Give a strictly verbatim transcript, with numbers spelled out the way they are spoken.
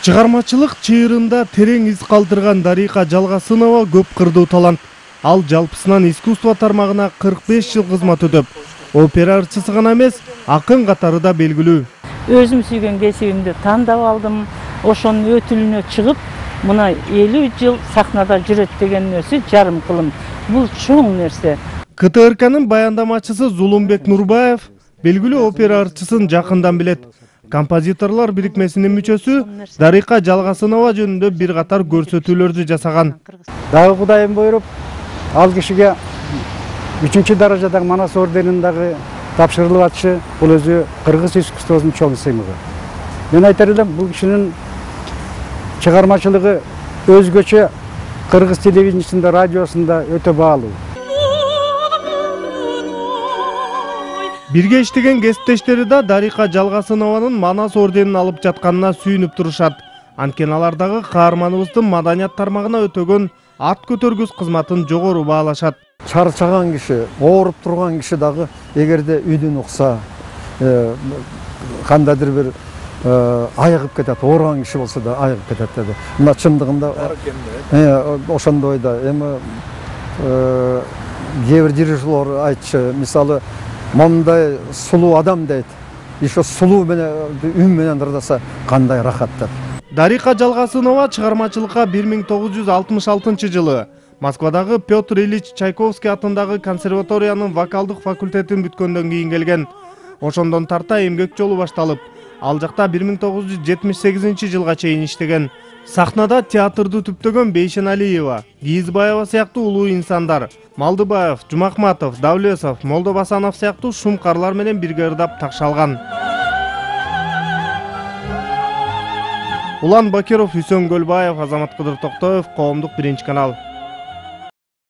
Чыгармачылык чыйырында терең из калтырган Дарика Жалгасынова көп кырдуу талант. Ал жалпысынан искусство тармагына кырк беш жыл кызмат өтөп, опера ырчысы гана эмес, акын катары да белгилүү. Өзүм сүйгөн кесибимди тандап алдым. Ошонун өтүлүнө чыгып, мына элүү жыл сахнада жүрөт деген нерсе жарым кылым. Бул чоң нерсе. ка тэ эр канын баяндамачысы Зулумбек Нурбаев белгилүү опера ырчысын жакындан билет. Композиторлор бирикмесинин мүчөсү Дарика Жалгасынова жөнүндө бир катар көрсөтүүлөрдү жасаган. Дагы Кудайым буйруп, ал кишиге үчүнчү даражадагы Манас орденин дагы тапшырылып атышы бул өзү кыргыз искусствосунун чоң сыймыгы. Мен айтар элем, бул кишинин чыгармачылыгы өзгөчө кыргыз телевидениесинде, радиосунда өтө баалуу. Бирге иштеген кесиптештери да Дарика Жалгасынованын Манас орденин алып жатканына сүйүнүп турушат. Анткени алар дагы каарманыбыздын маданият тармагына өтөгөн ат көтөргүс кызматын жогору баалашат. Чарчаган киши, ооруп турган киши дагы эгерде үйдүн укса, кандайдыр бир айыгып кетет, ооруган киши болсо да айыгып кетет деди. Мына чындыгында ошондой да. Эми кээ бир дирижерлор айтчу, мисалы мондай сулуу адам дейт. Еще сулуу менен үн менен ырдаса кандай рахат деп. Дарика Жалгасынова чыгармачылыкка бир миң тогуз жүз алтымыш алтынчы жылы Москвадагы Петр Ильич Чайковский атындагы консерваториянын вокалдык факультетин бүткөндөн кийин келген. Ошондон тарта эмгек жолу башталып, ал жакта бир миң тогуз жүз жетимиш сегизинчи жылга чейин иштеген. Сахнада театрды түптөгөн Бейшеналиева, Кийизбаева сыяктуу улуу инсандар, Малдыбаев, Жумахматов, Давлесов, Молдобасанов сыяктуу шумкарлар менен бирге ырдап такшалган. Улан Бакиров, Үсөн Көлбаев, Азамат Кыдыр Токтоев, Коомдук биринчи канал.